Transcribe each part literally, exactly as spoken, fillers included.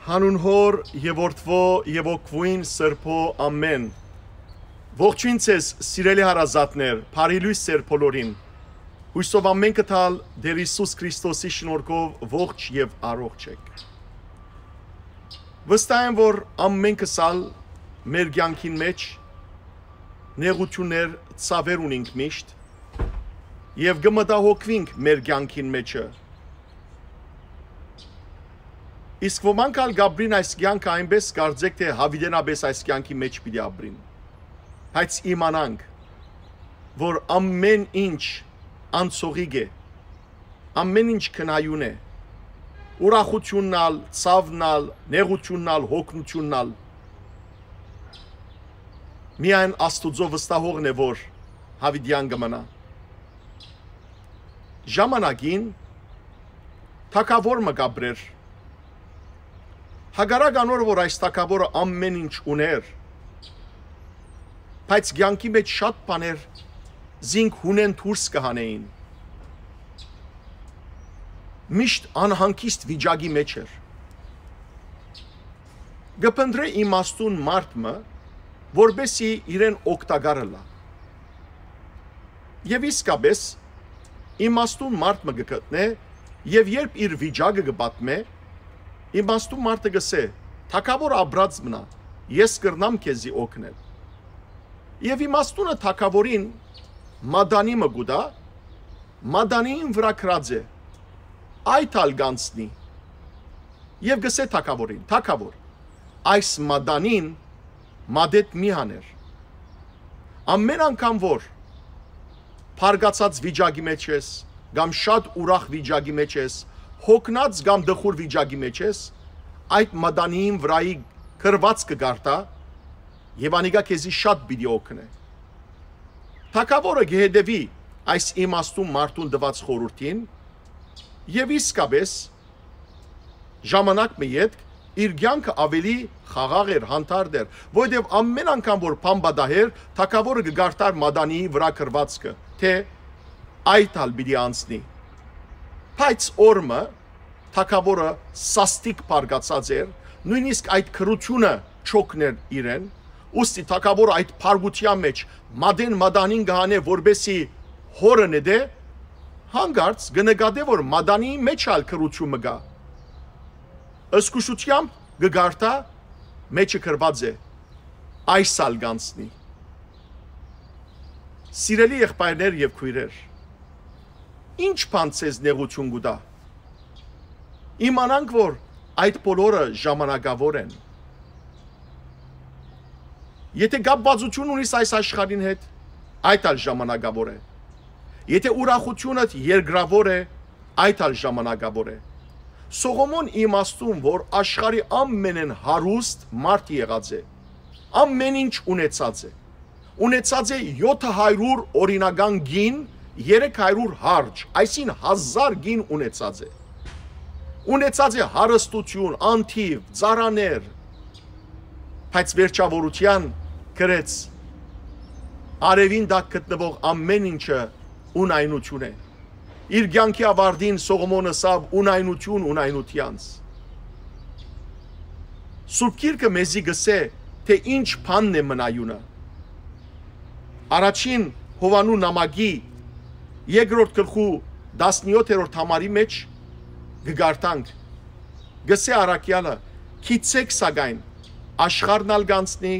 Հանուն Հօր եւ Որդւոյ եւ Հոգւոյն Սրբոյ, ամէն։ Ողջոյն ձեզ, սիրելի հարազատներ, բարի լոյս ձեր բոլորին։ Յուսով ամէնքը թալ Տէր Յիսուս Քրիստոսի շնորհքով ողջ եւ առողջ էք։ Վստահ եմ, որ ամէնքս ալ մեր կեանքին մէջ նեղութիւններ, ցաւեր ունինք միշտ եւ կը մտահոգուինք մեր կեանքին մէջը։ Իսկ ոմանք ալ կ'ապրին այս կեանքը այնպէս, կարծէք թէ յաւիտենապէս այս կեանքի մէջ պիտի ապրին։ Բայց իմանանք, որ ամէն ինչ անցողիկ է, ամէն ինչ քնայուն է, ուրախութիւնն ալ, ցաւն ալ, նեղութիւնն ալ, յոգնութիւնն ալ։ Միայն Աստուծոյ վստահողն է, որ յաւիտեան կը մնայ։ Ժամանակին թագաւոր մը կ'ապրէր։ Հակառակ անոր, որ այս թագաւորը ամէն ինչ ունէր, բայց կեանքի մէջ շատ բաներ զինք յունէն դուրս կը հանէին։ Միշտ անհանգիստ վիճակի մէջ էր։ Կը փնտռէ իմաստուն մարդ մը, որպէսզի իրեն օգտակար ըլլայ։ Եւ իսկապէս, իմաստուն մարդ մը կը գտնէ, եւ երբ իր վիճակը կը պատմէ, իմաստուն մարդը կ'ըսէ. «Թագաւոր, ապրած մնայ, ես կրնամ քեզի օգնել»։ Եւ իմաստունը թագաւորին մատանի մը կու տայ, մատանին վրայ գրած է. «Այդ ալ կ'անցնի»։ Եւ կ'ըսէ թագաւորին. «Թագաւոր, այս մատանին մատեդ մի հաներ»։ Ամէն անգամ որ բարկացած վիճակի մէջ ես, կամ շատ ուրախ վիճակի մէջ ես, յոգնած կամ տխուր վիճակի մէջ ես, այդ մատանին վրայի գրուածքը կարդա, եւ անիկա քեզի շատ պիտի օգնէ։ Թագաւորը կը հետեւի այս իմաստուն մարդուն տուած խորհուրդին, եւ իսկապէս, ժամանակ մը ետք իր կեանքը աւելի խաղաղ էր, հանդարտ էր, որովհետեւ ամէն անգամ որ բան պատահեր, թագաւորը կը կարդար մատանիի վրայ գրուածքը, թէ այդ ալ պիտի անցնի։ Բայց օր մը թագաւորը սաստիկ բարկացած էր, նոյնիսկ այդ գրութիւնը չօգներ իրեն, ուստի թագաւորը այդ բարկութեան մէջ մատեն մատանին կը հանէ, որպէսզի հօրը նետէ, հանկարծ կը նկատէ, որ մատանիի մէջ ալ գրութիւն մը կայ։ Զգուշութեամբ կը կարդայ, մէջը գրուած է. «Այս ալ կ'անցնի»։ Սիրելի եղբայրներ եւ քոյրեր, ի՞նչ բան ձեզ նեղութիւն կու տայ։ Իմանանք, որ այդ բոլորը ժամանակաւոր են։ Եթէ կապուածութիւն ունիս այս աշխարհին հետ, այդ ալ ժամանակաւոր է։ Եթէ ուրախութիւնդ երկրաւոր է, այդ ալ ժամանակաւոր է։ Սողոմոն իմաստուն, որ աշխարհի ամենէն հարուստ մարդ եղած է, ամէն ինչ ունեցած է, ունեցած է եօթը հարիւր օրինական կին, երեք հարիւր հարճ, այսինքն հազար կին ունեցած է։ Ունեցած է հարստութիւն, անթիւ, ծառաներ, բայց վերջաւորութեան գրեց. «Արեւին տակ գտնուող ամէն ինչը յունայնութիւն է»։ Իր կեանքի աւարտին Սողոմոն ըսաւ. «Յունայնութիւն յունայնութեանց»։ Սուրբ Գիրքը մեզի կ'ըսէ, թէ ինչ բանն է մնայունը։ Առաջին Յովհաննու նամակի երկրորդ գլխու տասնեօթերորդ համարի մէջ կը կարդանք. կ'ըսէ առաքեալը. «Գիտցէք սակայն, աշխարհն ալ կ'անցնի,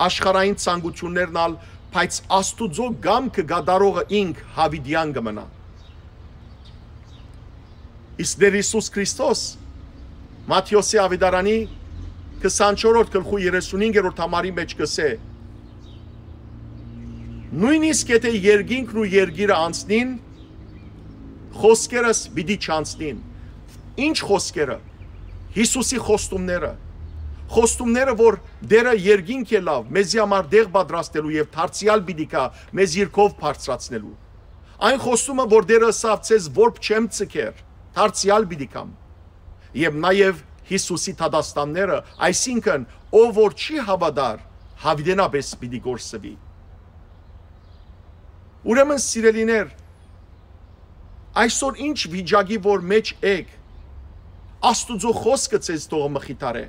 աշխարհային ցանկութիւններն ալ, բայց Աստուծոյ կամքը կատարողը ինք յաւիտեան կը մնայ»։ Իսկ Տէր Յիսուս Քրիստոս Մատթէոսի աւետարանի քսանչորսերորդ գլխու երեսունհինգերորդ համարի մէջ կ'ըսէ. «Նոյնիսկ եթէ երկինքն ու երկիրը անցնին, խօսքերս պիտի չանցնին»։ Ի՞նչ խօսքերը։ Յիսուսի խոստումները։ Խոստումները, որ Տէրը երկինք ելաւ մեզի համար տեղ պատրաստելու եւ դարձեալ պիտի գայ մեզ իր քով բարձրացնելու։ Այն խոստումը, որ Տէրը ըսաւ. «Ձեզ որբ չեմ ձգեր, դարձեալ պիտի գամ»։ Եւ նաեւ Յիսուսի դատաստանները, այսինքն՝ ով որ չի հաւատար, յաւիտենապէս պիտի կորսուի։ Ուրեմն, սիրելիներ, այսօր ինչ վիճակի որ մէջ էք, Աստուծոյ խօսքը ձեզ թող մխիթարէ։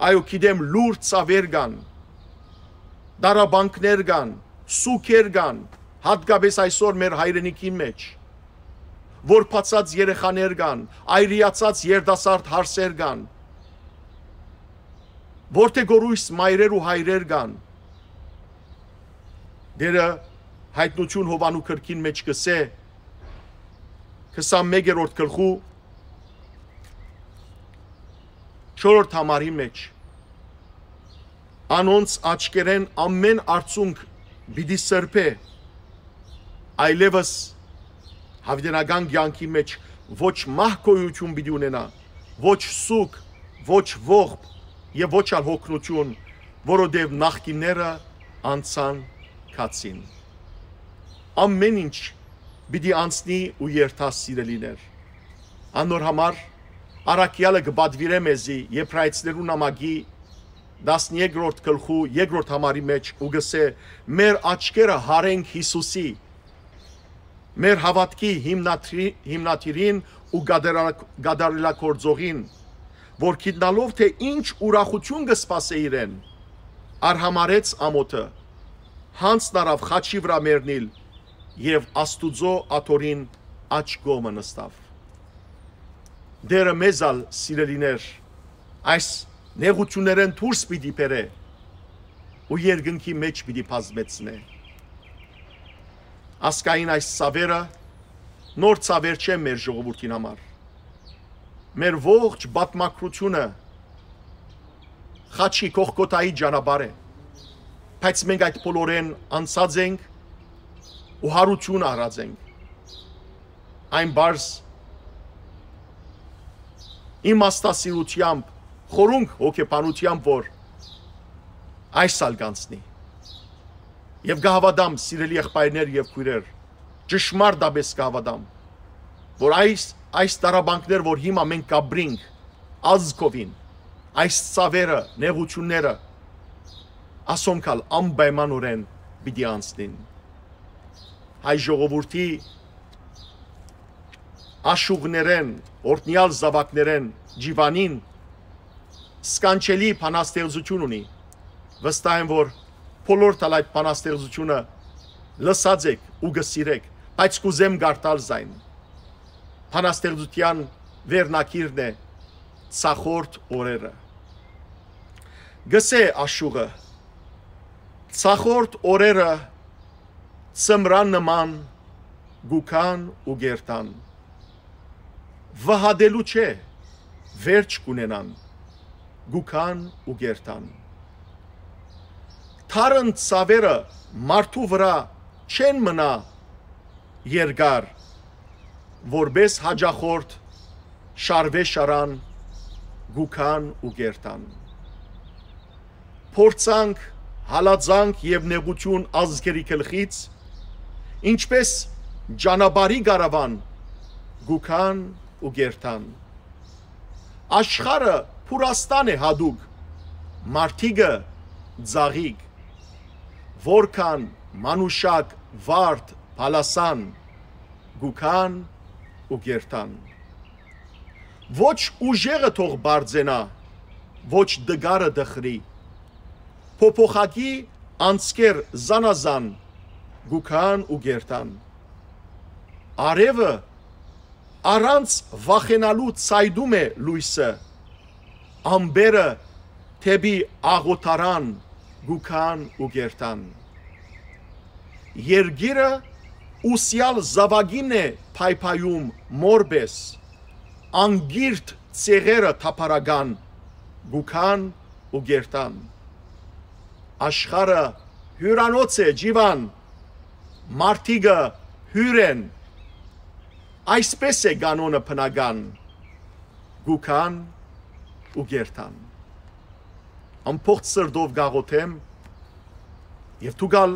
Այո, գիտեմ, լուռ ցաւեր կան, տառապանքներ կան, սուգեր կան, յատկապէս այսօր մեր հայրենիքին մէջ, որ բացած երեխաներ կան, այրիացած երիտասարդ հարսեր կան, որ թէ գորույս մայրեր ու հայրեր կան։ Դերը Յայտնութիւն Յովանու գրքին մէջ կ'ըսէ, քսանմէկերորդ գլխու չորրորդ համարի մէջ, անոնց աչքերէն ամէն արցունք պիտի սրբէ, այլեւս յաւիտենական կեանքի մէջ ոչ մահ գոյութիւն պիտի ունենայ, ոչ սուգ, ոչ ողբ եւ ոչ ալ յոգնութիւն, որովհետեւ նախկինները անցան գացին։ Ամէն ինչ պիտի անցնի ու երթայ, սիրելիներ։ Անոր համար առաքեալը կը պատուիրէ մեզի Եբրայեցիներու նամակի տասներկրորդ գլխու երկրորդ համարի մէջ ու կ'ըսէ. «Մեր աչքերը յարենք Յիսուսի, մեր հաւատքի հիմնադրի-, հիմնադիրին ու կատարելա-, կատարելագործողին, որ գիտնալով թէ ինչ ուրախութիւն կը սպասէ իրեն, արհամարհեց ամօթը, յանձն առաւ խաչի վրայ մեռնիլ եւ Աստուծոյ աթոռին աջ կողմը նստաւ»։ Տէրը մեզ ալ, սիրելիներ, այս նեղութիւններէն դուրս պիտի բերէ ու երկնքի մէջ պիտի բազմեցնէ։ Ասկային այս ցաւերը նոր ցաւեր չեն մեր ժողովուրդին համար։ Մեր ողջ պատմագրութիւնը խաչի, Կողկոթայի ճանապարհ է, բայց մենք այդ բոլորէն անցած ենք ու յարութիւն առած ենք։ Այն պարզ իմաստասիրութեամբ, խորունկ հոգեբանութեամբ, որ այս ալ կանցնի։ Եւ կը հաւատամ, սիրելի եղբայրներ եւ քոյրեր, ճշմարտապէս կը հաւատամ, որ այս, այս տառապանքներ, որ հիմա մենք կապրինք, ազգովին, այս ցաւերը, նեղութիւնները, ասոնք ալ անպայմանօրէն պիտի անցնին։ Հայ ժողովուրդի աշուղներէն, օրհնեալ զաւակներէն Ջիվանին սքանչելի բանաստեղծութիւն ունի։ Վստահ եմ, որ բոլորդ ալ այդ բանաստեղծութիւնը լսած եք ու կը սիրէք, բայց կ'ուզեմ կարդալ զայն։ Բանաստեղծութեան վերնագիրն է «Ցախորդ օրերը»։ Գսէ աշուղը. «Ցախորդ օրերը ձմրան նման կու գան ու կ'երթան։ Վհատելու չէ, վերջ կ'ունենան, կու գան ու կ'երթան։ Դառն ցաւերը մարդու վրայ չեն մնայ երկար, որպէս յաճախորդ շարուէ շարան, կու գան ու կ'երթան։ Փորձանք, հալածանք եւ նեղութիւն ազգերի գլխից, ինչպէս ճանապարհի կարաւան, կու գան ու կ'երթան։ Աշխարհը փուրաստան է յատուկ, մարդիկը՝ ծաղիկ, որքան մանուշակ, վարդ, բալասան, կու գան ու կ'երթան։ Ոչ ուժեղը թող պարծենայ, ոչ տկարը տխրի, փոփոխակի անցքեր զանազան կու գան ու կ'երթան։ Արեւը առանց վախենալու ցայտում է լոյսը, ամպերը դէպի աղօթարան կու գան ու կ'երթան։ Երկիրը ուսեալ զաւակին է փայփայում մոր պէս, անկիրթ ցեղերը թափառական կու գան ու կ'երթան։ Աշխարհը հիւրանոց է, Ջիվան, մարդիկը հիւր են, այսպէս է կանոնը բնական, կու գան ու կ'երթան։ Ամբողջ սրտով կ'աղօթեմ, եւ դուք ալ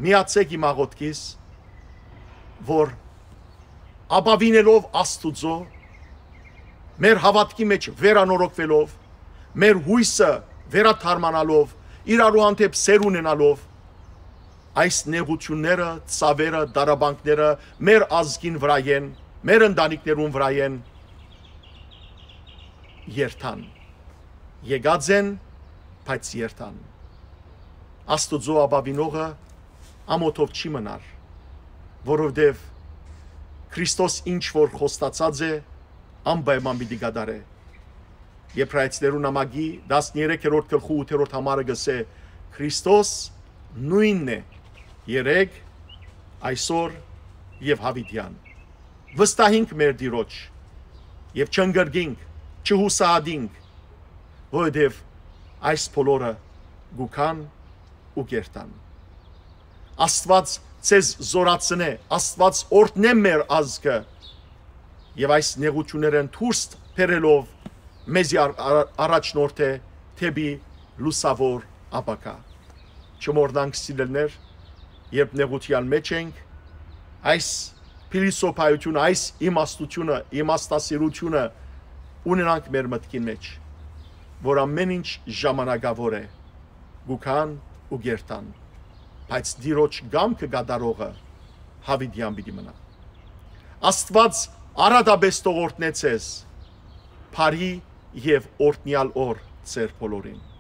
միացէք իմ աղօթքիս, որ ապաւինելով Աստուծոյ, մեր հաւատքի մէջ վերանորոգուելով, մեր յոյսը վերադարմանալով, իրարու հանդէպ սէր ունենալով, այս նեղութիւնները, ցաւերը, տառապանքները մեր ազգին վրայ են, մեր ընտանիքներուն վրայ են, երթան։ Եկած են, բայց երթան։ Աստուծոյ ապաւինողը ամօթով չի մնար, որովհետեւ Քրիստոս ինչ որ խոստացած է, անպայման պիտի կատարէ։ Եբրայեցիներու նամակի տասներեքերորդ գլխու ութերորդ համարը կ'ըսէ. «Քրիստոս նոյնն է երեկ, այսօր եւ յաւիտեան»։ Վստահինք մեր Տիրոջ եւ չընկրկինք, չյուսահատինք, որովհետեւ այս բոլորը կու գան ու կ'երթան։ Աստուած ձեզ զօրացնէ, Աստուած օրհնէ մեր ազգը եւ այս նեղութիւններէն դուրս բերելով մեզի առ-, առ-, առաջնորդէ դէպի լուսաւոր ապագայ։ Չմոռնանք, սիրելիներ, երբ նեղութեան մէջ ենք, այս փիլիսոփայութիւնը, այս իմաստութիւնը, իմաստասիրութիւնը ունենանք մեր մտքին մէջ, որ ամէն ինչ ժամանակաւոր է, կու գան ու կ'երթան, բայց Տիրոջ կամքը կատարողը յաւիտեան պիտի մնայ։ Աստուած արատապէս թող օրհնէ ձեզ, բարի եւ օրհնեալ օր ձեր բոլորին։